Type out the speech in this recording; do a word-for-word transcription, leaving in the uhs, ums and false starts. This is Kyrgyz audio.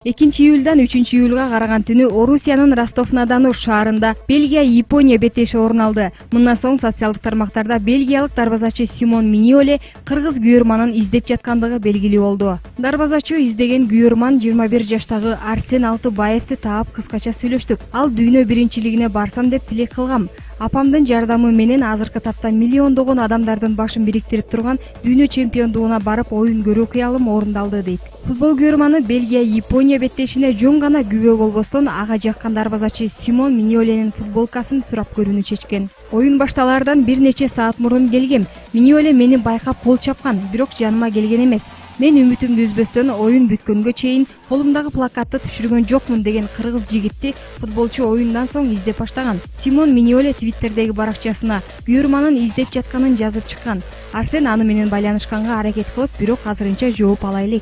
экинчи июлдан үчүнчү июлга караган түнү Орусиянын Ростов-на-Дону шаарында Бельгия-Япония беттеши орун алды. Мындан соң социалдык тармактарда бельгиялык дарбазачы Симон Миньоле кыргыз күйөрманын издеп жаткандыгы белгилүү болду. Дарбазачы издеген күйөрман жыйырма бир жаштагы Арсен Алтыбаевди таап кыскача сүйлөштүк. Ал дүйнө биринчилигине барсам деп тилек кылгам. Апамдын жардамы менен азыркы тапта миллиондогон адамдардын башын бириктирип турган дүйнө чемпиондугуна барып оюн көрүү кыялым орундалды дейт. Футбол күйөрманы Бельгия-Япония беттешине жөн гана күбө болбостон ага жаккан дарбазачы Симон Миньоленин футболкасын сурап көрүүнү чечкен. Оюн башталаардан бир нече саат мурун келгем. Миньоле мени байкап кол чапкан, бирок жаныма келген эмес. Мен үмүтүмдү үзбөстөн оюн бүткөнгө чейин колумдагы плакатты түшүргөн жокмун деген кыргыз жигитти футболчу оюндан соң издеп баштаган. Симон Миньоле Твиттердеги баракчасына күйөрманын издеп жатканын жазып чыккан. Арсен аны менен байланышканга аракет кылып, бирок азырынча жооп ала элек.